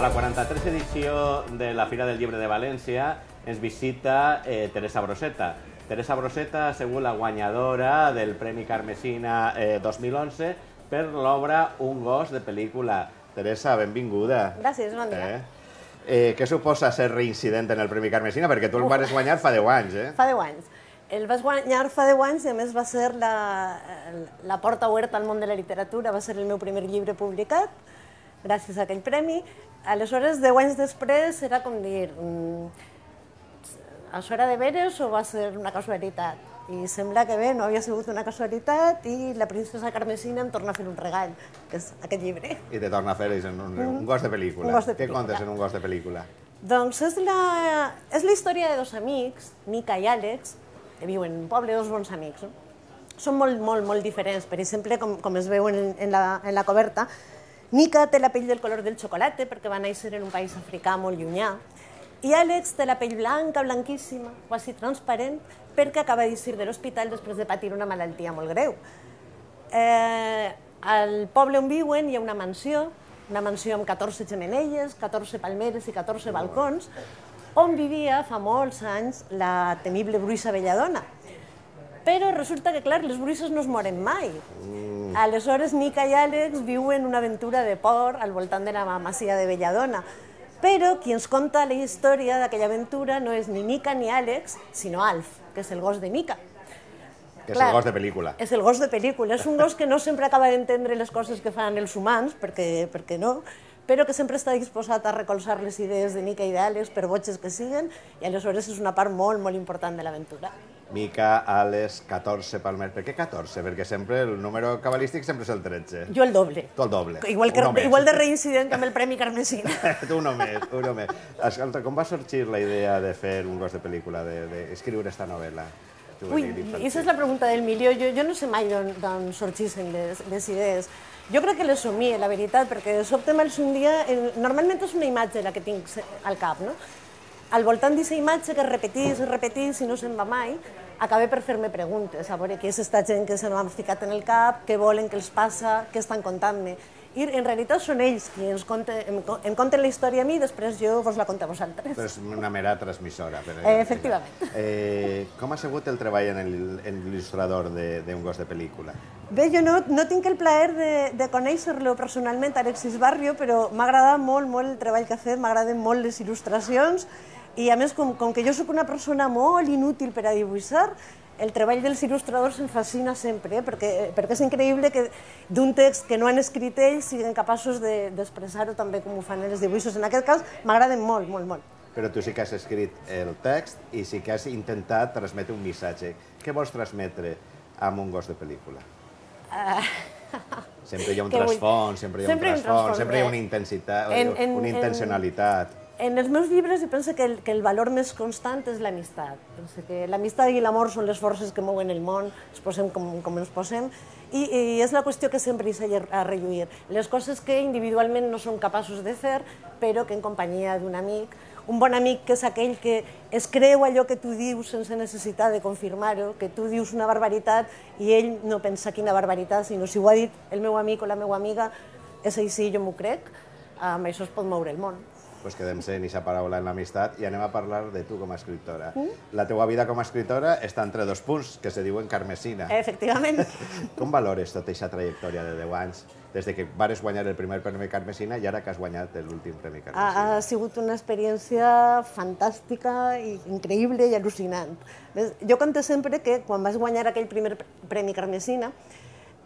la 43 edició de la Fira del Llibre de València ens visita Teresa Broseta. Teresa Broseta ha sigut la guanyadora del Premi Carmesina 2011 per l'obra Un gos de pel·lícula. Teresa, benvinguda. Gràcies, bon dia. Què suposa ser reincident en el Premi Carmesina? Perquè tu el vas guanyar fa 10 anys, eh? Fa 10 anys. El vas guanyar fa 10 anys i a més va ser la porta oberta al món de la literatura, va ser el meu primer llibre publicat, gràcies a aquell premi. Aleshores, 10 anys després, era com dir, això era de veres o va ser una casualitat? I sembla que bé, no havia sigut una casualitat i la princesa Carmesina em torna a fer un regal, que és aquest llibre. I te torna a fer un gos de pel·lícula. Un gos de Què pel·lícula. contes en un gos de pel·lícula? Doncs és la història de dos amics, Mica i Àlex, que viuen en un poble, dos bons amics. Són molt diferents. Per exemple, com es veu en la coberta, Mica té la pell del color del xocolata perquè va néixer en un país africà molt llunyà, i Àlex té la pell blanca, blanquíssima, quasi transparent, perquè acaba d'eixir de l'hospital després de patir una malaltia molt greu. Al poble on viuen hi ha una mansió amb 14 xemeneies, 14 palmeres i 14 balcons, on vivia fa molts anys la temible bruixa Belladona. Però resulta que, clar, les bruixes no es moren mai. Aleshores, Mica i Àlex viuen una aventura de por al voltant de la masia de Belladona. Però qui ens conta la història d'aquella aventura no és ni Mica ni Àlex, sinó Alf, que és el gos de Mica. Que és el gos de pel·lícula. És el gos de pel·lícula. És un gos que no sempre acaba d'entendre les coses que fan els humans, perquè no, però que sempre està disposat a recolzar les idees de Mica i d'Àlex, per boges que siguen, i aleshores és una part molt important de l'aventura. Mica, Àlex, 14 palmers. Per què 14? Perquè sempre el número cabalístic sempre és el 13. Jo el doble. Tu el doble. Igual de reincident que amb el Premi Carmesina. Tu un només. Escolta, com va sorgir la idea de fer un gos de pel·lícula, d'escriure aquesta novel·la? Ui, aquesta és la pregunta del milió. Jo no sé mai d'on sorgissin les idees. Jo crec que les somie, la veritat, perquè de sobte me'ls un dia... Normalment és una imatge la que tinc al cap, no? Al voltant d'aquesta imatge que repetís i no se'n va mai, acabé per fer-me preguntes, a veure què és aquesta gent que se m'han ficat en el cap, què volen, què els passa, què estan contant-me. I en realitat són ells qui em conten la història a mi i després jo vos la conto a vosaltres. És una mera transmissora. Efectivament. Com ha sigut el treball en l'il·lustrador d'un gos de pel·lícula? Bé, jo no tinc el plaer de conèixer-lo personalment, Alexis Barrio, però m'ha agradat molt el treball que ha fet, m'agraden molt les il·lustracions i a més, com que jo sóc una persona molt inútil per a dibuixar, el treball dels il·lustradors em fascina sempre, perquè és increïble que d'un text que no han escrit ells siguin capaços d'expressar-ho també com ho fan els dibuixos. En aquest cas m'agraden molt. Però tu sí que has escrit el text i sí que has intentat transmetre un missatge. Què vols transmetre amb un gos de pel·lícula? Sempre hi ha un trasfons, sempre hi ha una intensitat, una intencionalitat. En els meus llibres jo penso que el valor més constant és l'amistat. Penso que l'amistat i l'amor són les forces que mouen el món, ens posem com ens posem, i és la qüestió que sempre hi s'ha a relluir. Les coses que individualment no som capaços de fer, però que en companyia d'un amic, un bon amic que és aquell que es creu allò que tu dius sense necessitat de confirmar-ho, que tu dius una barbaritat i ell no pensa quina barbaritat, sinó si ho ha dit el meu amic o la meva amiga, és així, jo m'ho crec, amb això es pot moure el món. Doncs quedem-se en aquesta paraula, en l'amistat, i anem a parlar de tu com a escriptora. La teua vida com a escriptora està entre dos punts, que se diuen Carmesina. Efectivament. Com valores tota aquesta trajectòria de 10 anys, des que vares guanyar el primer Premi Carmesina i ara que has guanyat l'últim Premi Carmesina? Ha sigut una experiència fantàstica, i increïble i al·lucinant. Jo conto sempre que quan vas guanyar aquell primer Premi Carmesina,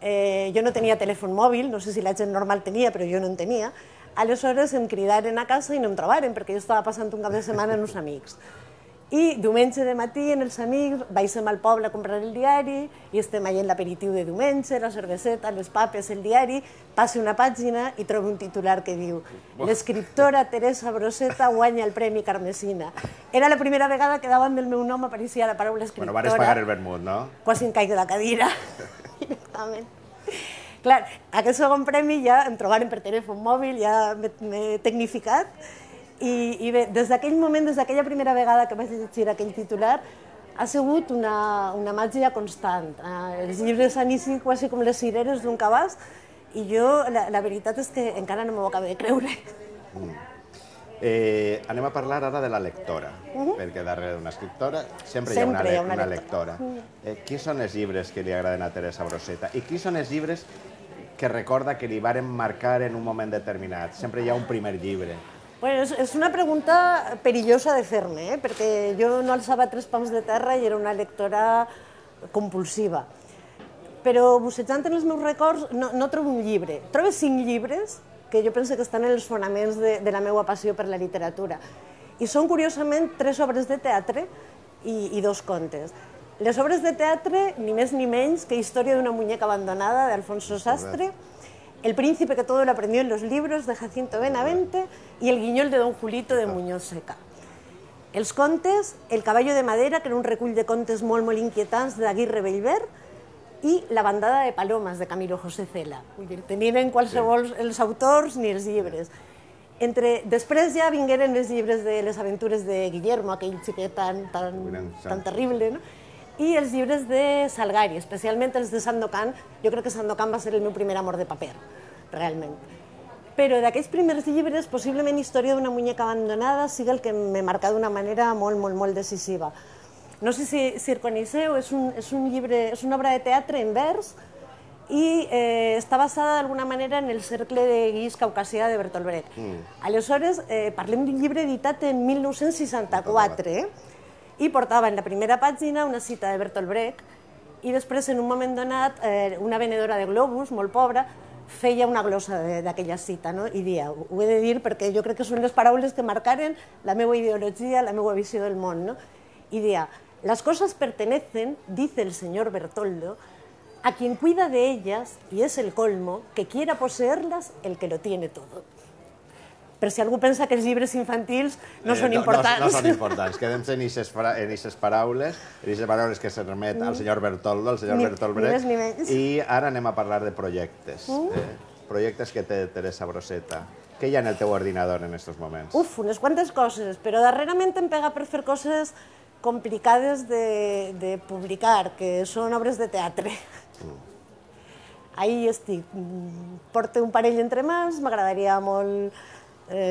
jo no tenia telèfon mòbil, no sé si la gent normal tenia, però jo no en tenia. Aleshores em cridaren a casa i no em trobaren, perquè jo estava passant un cap de setmana amb uns amics. I diumenge de matí, amb els amics, baixem al poble a comprar el diari i estem allà en l'aperitiu de diumenge, la cerveseta, les papes, el diari, passe una pàgina i trobo un titular que diu l'escriptora Teresa Broseta guanya el Premi Carmesina. Era la primera vegada que davant del meu nom apareixia la paraula escriptora. Bueno, vares pagar el vermut, no? Quasi em caig de la cadira, directament. Clar, aquest segon premi ja em trobaren per telèfon mòbil, ja m'he tecnificat, i bé, des d'aquell moment, des d'aquella primera vegada que vaig llegir aquell titular, ha sigut una màgia constant. Els llibres han eixit quasi com les cireres d'un cabàs, i jo, la veritat és que encara no m'ho acabo de creure. Anem a parlar ara de la lectora, perquè darrere d'una escriptora sempre hi ha una lectora. Quins són els llibres que li agraden a Teresa Brosseta i quins són els llibres que recorda que li varen marcar en un moment determinat? Sempre hi ha un primer llibre. Bueno, és una pregunta perillosa de fer-me, perquè jo no alçava 3 pams de terra i era una lectora compulsiva. Però bussejant en els meus records no trobo un llibre. Trobo 5 llibres que jo penso que estan en els fonaments de la meva passió per la literatura. I són, curiosament, 3 obres de teatre i 2 contes. Les obres de teatre, ni més ni menys que Història d'una muñeca abandonada, de Alfonso Sastre, El príncipe que todo lo aprendió en los libros, de Jacinto Benavente, i El guiñol de Don Julito, de Muñoz Seca. Els contes, El caballo de madera, que era un recull de contes molt, molt inquietants d'Aguirre Bellver, i La bandada de palomes, de Camilo José Cela. Tenien en qualsevol els autors ni els llibres. Després ja vingueren els llibres de les aventures de Guillermo, aquell xiquet tan terrible, no? I els llibres de Salgari, especialment els de Sandokan. Jo crec que Sandokan va ser el meu primer amor de paper, realment. Però d'aquells primers llibres, possiblement Història d'una muñeca abandonada sigui el que me marca d'una manera molt, molt, molt decisiva. No sé si el coneixeu, és una obra de teatre en vers i està basada d'alguna manera en el cercle de guix caucasià de Bertolt Brecht. Aleshores, parlem d'un llibre editat en 1964, i portava en la primera pàgina una cita de Bertolt Brecht i després, en un moment donat, una venedora de globus, molt pobra, feia una glossa d'aquella cita, no? I dia, ho he de dir perquè jo crec que són les paraules que marcaren la meva ideologia, la meva visió del món, no? Y dia, las cosas pertenecen, dice el señor Bertoldo, a quien cuida de ellas, y es el colmo, que quiera poseerlas el que lo tiene todo. Per si algú pensa que els llibres infantils no són importants. No són importants. Quedem-se en aquestes paraules que se remet al senyor Bertoldo, al senyor Bertolt Brecht. I ara anem a parlar de projectes. Projectes que té Teresa Brosseta. Què hi ha en el teu ordinador en aquests moments? Unes quantes coses, però darrerament em pega per fer coses complicades de publicar, que són obres de teatre. Ahí estic. Porto un parell entre mans, m'agradaria molt,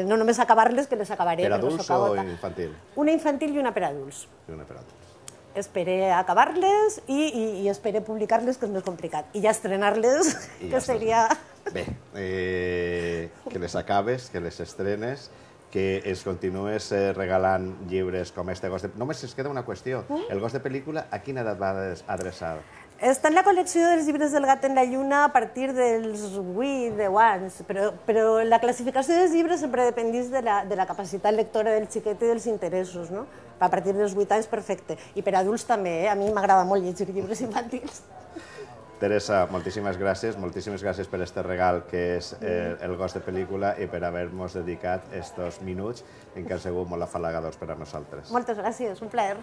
no només acabar-les, que les acabaré. Per adults o infantil? Una infantil i una per adults. I una per adults. Esperé acabar-les i esperé publicar-les, que és més complicat. I ja estrenar-les, que seria... Bé, que les acabes, que les estrenes, que es continues regalant llibres com este Gos de... Només es queda una qüestió. El Gos de pel·lícula, a quina edat va adreçar? Està en la col·lecció dels llibres del Gat en la Lluna a partir dels 8, 10 anys, però la classificació dels llibres sempre dependís de la capacitat lectora del xiquet i dels interessos, no? A partir dels 8 anys, perfecte. I per adults també, a mi m'agrada molt llegir llibres infantils. Teresa, moltíssimes gràcies per este regal que és el Gos de pel·lícula i per haver-nos dedicat estos minuts en què han sigut molt afalagadors per a nosaltres. Moltes gràcies, un plaer.